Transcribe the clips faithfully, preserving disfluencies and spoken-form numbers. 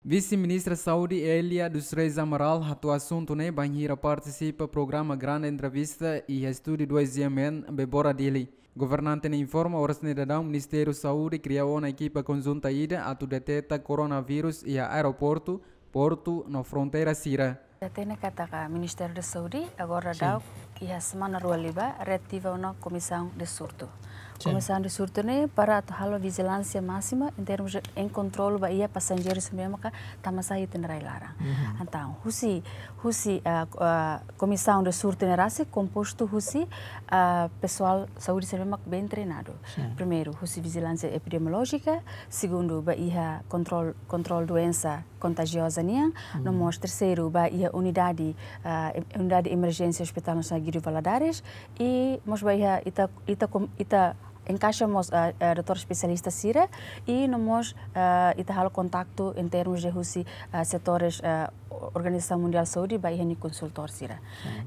Vise-Ministra Saúde Elia dos Reis Amaral hato'o asuntu ne'e bainhira partisipa programa Grande Entrevista iha Estúdiu dois G M N, Bebora, Dili. Governante ne'e informa oras ne'e daudaun Ministériu Saúde kria ona ekipa konjunta ida atu deteta koronavírus iha aeroportu, portu no fronteira sira. Hatene katak Ministériu da Saúde agora daudaun iha semana rua liubá reativa ona Komisaun de Surtu. Komisaun de Surtu ne'e para atu halo vijilánsia másima em termos de kontrolu ba iha pasajeiru sira ne'ebé maka tama sai iha ita-nia rai-laran. Entaun, husi, husi, ah, ah, Komisaun de Surtu ne'e rasik kompostu husi, ah, pesoál saúde sira ne'ebé maka bem treinadu. Primeiru, husi vijilánsia epidemiolójika, segundu, ba iha kontrolu, kontrolu doensa kontajioza nian, no mós terseiru, ba iha unidade, ah, em-, unidade emerjénsia Hospital Nasionál Guido Valadares, i mós ba iha ita, ita kom-, ita enkaixa mós, ah, ah, doutór espesialista sira, i no mós, ah, ita halo kontaktu em termos de husi, ah, setores, ah, Organizasaun Mundiál Saúde ba iha nia konsultór sira.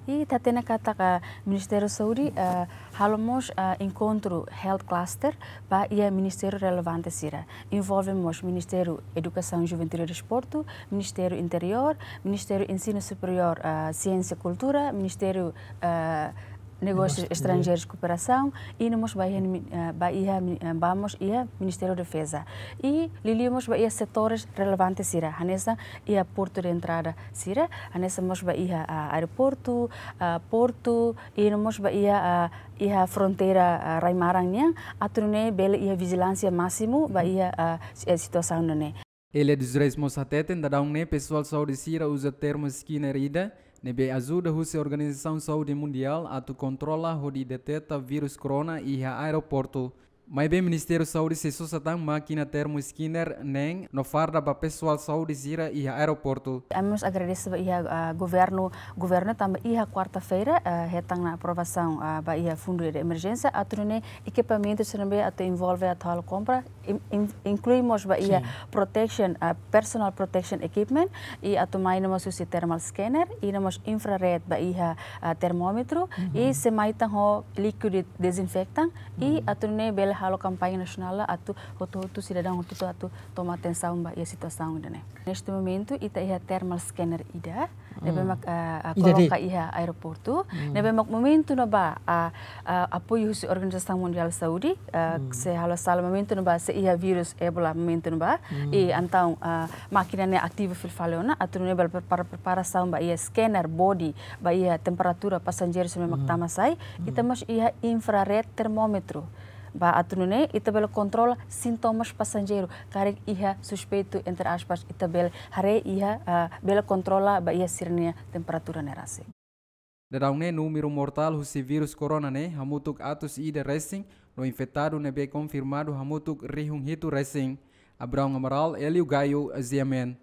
I ita hatene katak Ministériu Saúde, ah, halo mós, ah, enkontru health cluster ba iha ministériu relevante sira. Envolve mós Ministériu Edukasaun, Juventude e Desportu, Ministériu Interiór, Ministériu Ensinu Superiór, ah, Siénsia, Kultura, Ministériu, ah, Negósius Estranjeirus, Kooperasaun, i no mós ba iha mi-, ah, ba iha mi-, ah, ba mós iha Ministériu Defeza. I liuliu mós ba iha setores relevante sira, hanesan iha portu de entrada sira, hanesan mós ba iha, ah, aeroportu, ah, portu, i no mós ba iha, ah, iha fronteira, ah, rai-maran nian, atu nune'e bele iha vijilánsia másimu ba iha, ah, si-, eh, situasaun ne'e. Elia dos Reis mós hateten daudaun ne'e pesoál saúde sira uza termoscanner ida ne'ebé ajuda husi Organizasaun Saúde Mundiál atu kontrola hodi deteta vírus corona iha aeroportu. Maibé Ministériu Saúde sei sosa tan mákina termoscanner ne'e no farda ba pesoál saúde sira iha aeroportu. Ami mós agradese ba iha, ah, governu, governu tanba iha kuarta-feira, ah, hetan ona aprovasaun, ah, ba iha fundu de emerjénsia, atu nune'e ekipamentu sira ne'ebé atu envolve atu halo kompra, in-, in-, inklui mós ba iha protection, ah, personal protection equipment, i atu mai no mós husi thermal scanner, i no mós infrared ba iha, ah, termómetru, i sei mai tan ho líkidu dezinfetan, i atu nune'e bele halo kampaña nasionál atu hotu-hotu sidadaun hotu-hotu atu toma atensaun ba iha situasaun ida-ne'e. Neste momentu, ita iha thermal scanner ida, ne'ebé mak, ah, ah, koloka iha aeroportu, ne'ebé mak momentu ne'ebá, ah, ah, apoiu husi Organizasaun Mundiál Saúde, ah, se halo sala momentu ne'ebá, se iha vírus Ebola momentu ne'ebá, i entaun, ah, mákina ne'e ativa fila fali ona, atu nune'e bele prepara, preparasaun ba iha scanner body, ba iha temperatura pasajeiru sira ne'ebé mak tama sai, ita mós iha infrared termómetru. Ba atu nune'e, ita bele kontrola sintomas pasajeiru, karik iha suspeitu, entre aspas, ita bele haree iha, ah, bele kontrola ba iha sira-nia temperatura ne'e rasik. Daudaun ne'e númeru mortál husi vírus corona ne'e hamutuk atus ida resin, no infetadu ne'ebé konfirmadu hamutuk rihun hitu resin. Abraão Amaral, Hélio Gaio, Z M N.